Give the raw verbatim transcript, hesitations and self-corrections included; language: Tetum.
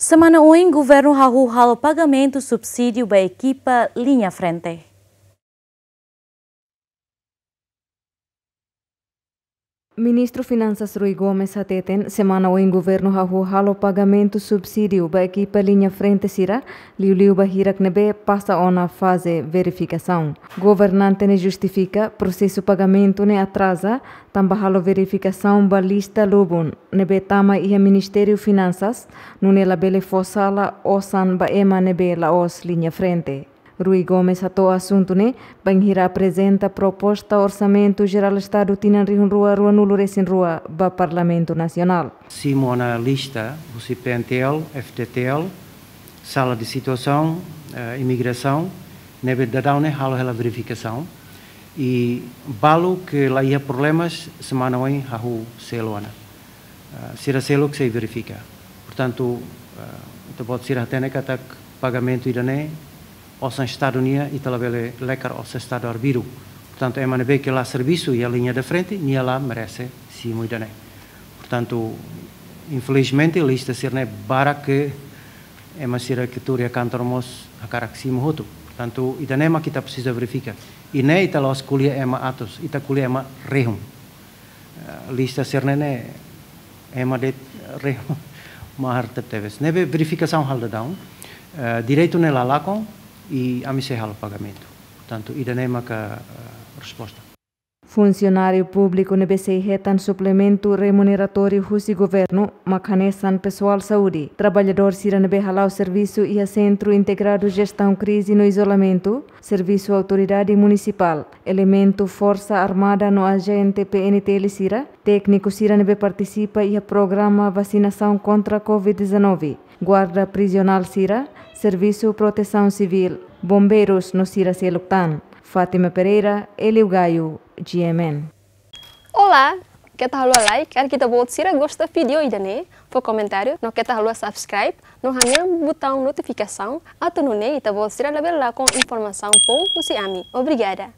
Semana oin, governu hahú halo pagamentu subsídiu ba ekipa liña frente. Ministru Finansas Rui Gomes hateten, semana oin governu hahú halo pagamentu subsídiu ba ekipa liña frente sira, liuliu ba hirak ne'ebé pasa ona faze verifikasaun. Governante ne'e justifika prosesu pagamentu ne'e atraza, tanba halo verifikasaun ba lista lubun ne'ebé tama iha Ministériu Finansas, nune'e labele fó sala osan ba ema ne'ebé la'ós liña frente. Rui Gomes hato'o asuntu ne'e bainhira aprezenta proposta Orsamentu Jerál Estadu tinan rihun rua ruanulu resin rua ba Parlamentu Nasionál. Simu ona lista husi P N T L, F T T L, Sala de Situasaun, eh, Imigrasaun, ne'ebé daudaun ne'e halo hela verifikasaun. I balu ke la iha problemas, semana oin hahú selu ona. Ah, sira seluk sei verifika. Portantu, ah, ita-boot sira hatene katak pagamentu ida-ne'e osan Estadu nian, ita labele lekar osan Estadu arbiru. Portantu, ema ne'ebé ke la servisu iha liña de frente, nia la merese simu ida-ne'e. Portantu, infelizmente, lista sira-ne'e barak ke ema sira ke tuur iha kantor mós hakarak simu hotu. Portantu, ida-ne'e mak ita presiza verifika. I ne'e ita la'ós ko'alia ema atus, ita ko'alia ema rihun. Eh, lista sira-ne'e ne'e ema de'it rihun, mahar tebetebes. Ne'ebé verifikasaun halo daudaun, eh, direitu ne'e la lakon i ami sei halo pagamentu. Portantu, ida-ne'e maka, eh, resposta. Funsionáriu públiku ne'ebé sei hetan suplementu remuneratóriu husi governu mak hanesan pesoál saúde, traballadór sira ne'ebé hala'o servisu iha Sentru Integradu Jestaun Krize no Izolamentu, servisu autoridade munisipál, elementu Forsa Armada no ajente P N T L sira, tékniku sira ne'ebé partisipa iha programa vasinasaun kontra covid dezanove, guarda prizionál sira, servisu protesaun sivíl, bombeirus no sira seluk tan. Fátima Pereira, Elio Gaio, G M N. Olá, keta haluha like, karik ita-boot sira gosta vídeo ida-ne'e, fó komentáriu, no keta haluha subscribe, no hanehan butaun notifikasaun, atu nune'e ita-boot sira labele lakon informasaun foun husi ami. Obrigada.